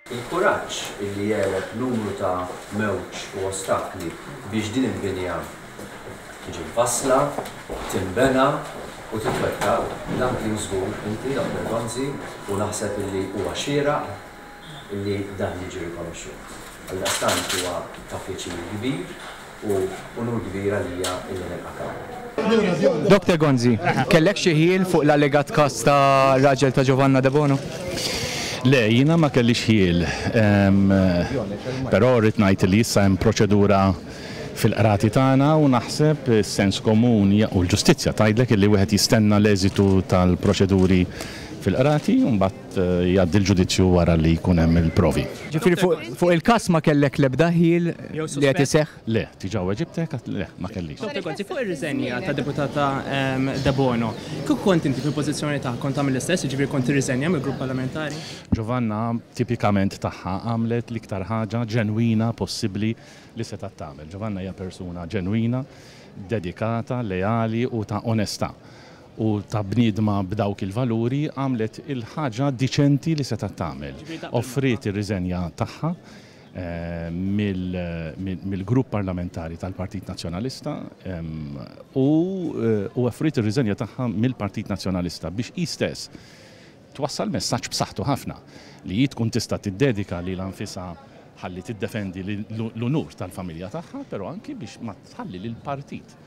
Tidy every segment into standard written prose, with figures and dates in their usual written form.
Il-kuraġġ illi għeleb numru ta' mewġ u ostakli biex din il-binja tiġi mfassla, tinbena u titwettaq, dan kien żgur inti, Dottor Gonzi, u naħseb illi huwa xieraq illi dan jiġi rikonoxxut. Għaldaqstant huwa ta' pjaċir kbir u unur kbir għalija illi nilqak hawn. Dr. Gonzi, kellek xi ħjiel fuq l-allegat każ ta' raġel ta' Giovanna Debono? Le, jiena ma kellix ħjiel. Però rrid ngħid li issa hemm proċedura fil-qrati tagħna u naħseb is-sens komun u l-ġustizzja tgħidlek illi wieħed jistenna l-eżitu tal-proċeduri fil-qrati u mbagħad jgħaddi l-ġudizzju wara li jkun hemm il-provi. Ġifieri fuq il-każ ma kellek l-ebda ħjiel li qed iseħħ? Le, diġà weġibtek, għedt le, ma kellix. Dottor Gonzi, fuq ir-riżenja tad-Deputata Debono, kieku kont inti fil-pożizzjoni tagħha kont tagħmel l-istess, jiġifieri kont tirriżenja mill-grupp parlamentari? Giovanna tipikament tagħha għamlet l-iktar ħaġa ġenwina possibbli li setgħet tagħmel. Giovanna hija persuna ġenwina, dedikata, leali u ta' onestà. u ta' bniedma b'dawk il-valuri għamlet il-ħaġa diċenti li setgħet tagħmel. Offriet ir-riżenja tagħha mill-grupp parlamentari tal-Partit Nazzjonalista u offriet ir-riżenja tagħha mill-Partit Nazzjonalista biex hi stess twassal messaġġ b'saħħtu ħafna li hi tkun tista' tiddedika lilha nfisha ħalli tiddefendi l-unur tal-familja tagħha, però anki biex ma tħalli lill-partit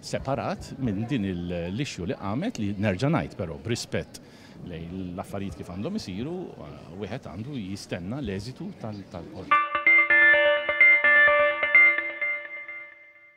separat minn din l-issue li qamet li nerġa' ngħid però b'rispett lejn l-affarijiet kif għandhom isiru, wieħed għandu jistenna l-eżitu tal-qorti.